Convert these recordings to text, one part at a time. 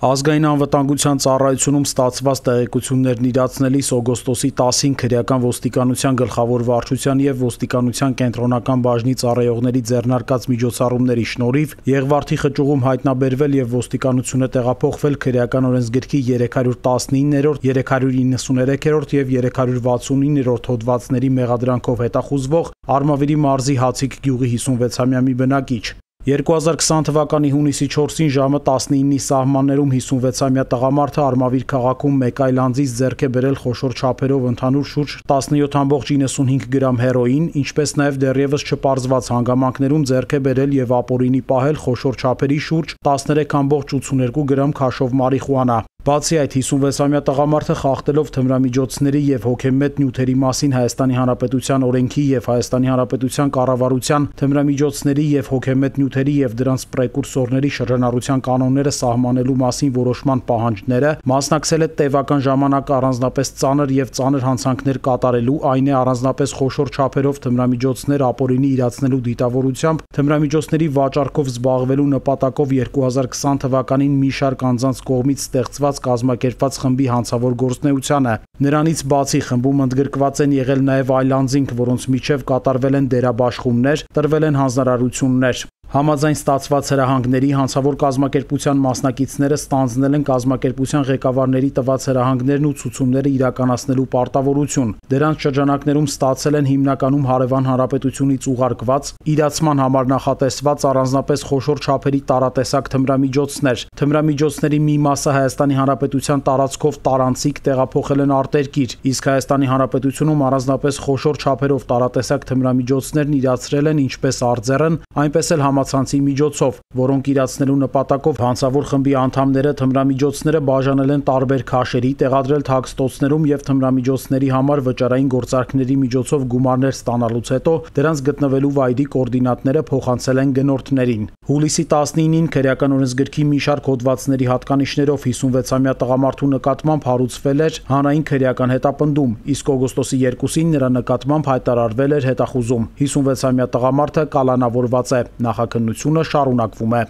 Ազգային անվտանգության ծառայությունում ստացված տեղեկություններն իրացնելիս օգոստոսի 10-ին քրեական ոստիկանության գլխավոր վարչության եւ ոստիկանության կենտրոնական բաժնի ծառայողների ձեռնարկած միջոցառումների շնորհիվ Եղվարդի խճուղում հայտնաբերվել եւ ոստիկանությունը տեղափոխվել քրեական օրենսգրքի 319-րդ, 393-րդ եւ 369-րդ հոդվածների մեղադրանքով հետախուզվող Արմավիրի մարզի Հացիկ գյուղի 56-ամյա մի բնակիչ։ 2020 թվականի հունիսի 4-ին ժամը 19-ի սահմաններում 56-ամյա տղամարդը Արմավիր քաղաքում մեկ այլ անձից ձեռք է բերել խոշոր չափերով ընդհանուր շուրջ 17.95 գրամ հերոին, ինչպես նաև դեռևս չպարզված հանգամանքներում ձեռք է բերել եւ ապօրինի պահել խոշոր չափերի շուրջ 13.82 գրամ քաշով մարիխուանա։ Բացի այդ 56-ամյա տղամարդը խախտելով թմրամիջոցների եւ հոգեմետ նյութերի մասին Հայաստանի Հանրապետության օրենքի եւ Հայաստանի Հանրապետության կառավարության թմրամիջոցների եւ հոգեմետ նյութերի եւ դրանց պրեկուրսորների շրջանառության կանոնները սահմանելու մասին որոշման պահանջները, մասնակցել է տևական ժամանակ առանձնապես ծանր եւ ծանր հանցանքներ կատարելու, այն է առանձնապես խոշոր չափերով թմրամիջոցներ ապօրինի իրացնելու դիտավորությամբ թմրամիջոցների վաճառքով զբաղվելու նպատակով 2020 թվականին մի շարք անձանց կողմից ստեղծված կազմակերպված խմբի հանցավոր գործունեությանը։ Նրանից բացի խմբում ընդգրկված են եղել նաև այլ անձինք, որոնց միջև կատարվել են դերաբաշխումներ, տրվել են հանձնարարություններ։ Համաձայն ստացված հրահանգների հանցավոր կազմակերպության մասնակիցները ստանձնել են կազմակերպության ղեկավարների տված հրահանգներն ու ցուցումները իրականացնելու պարտավորություն։ Դրանց շրջանակներում ստացել են հիմնականում հարևան հանրապետությունից ուղարկված, իրացման համար նախատեսված առանձնապես խոշոր չափերի տարատեսակ թմրամիջոցներ։ Թմրամիջոցների մի մասը Հայաստանի Հանրապետության տարածքով տարանցիկ տեղափոխել են արտերկիր, իսկ Հայաստանի Հանրապետությունում առանձնապես խոշոր չափերով տարատեսակ թմրամիջոցներն իրացրել են ինչպես արձեռն, այնպես էլ համացանցի միջոցով, որոնք իրացնելու նպատակով հանցավոր խմբի անդամները թմրամիջոցները բաժանել են տարբեր քաշերի, տեղադրել թաքստոցներում եւ թմրամիջոցների համար վճարային գործարքների միջոցով գումարներ ստանալուց հետո դրանց գտնվելու վայրի կոորդինատները փոխանցել են գնորդներին։ Հուլիսի 19-ին քրեական օրենսգրքի մի շարք հոդվածների հատկանիշներով 56-ամյա տղամարդու նկատմամբ հարուցվել էր հանրային քրեական հետապնդում, իսկ օգոստոսի 2-ին նրա նկատմամբ հայտարարվել էր հետախուզում։ 56-ամյա տղամարդը կալանավորված է։ Նախաքննությունը շարունակվում է։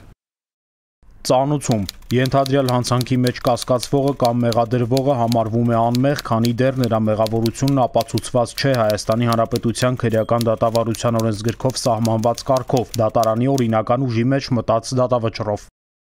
Ծանուցում ենթադրյալ հանցանքի մեջ կասկածվողը կամ մեղադրվողը համարվում է անմեղ, քանի դեռ նրա մեղավորությունն ապացուցված չէ Հայաստանի Հանրապետության քրեական դատավարության օրենսգրքով սահմանված կարգով, դատարանի օրինական ուժի մեջ մտած դատավճռով։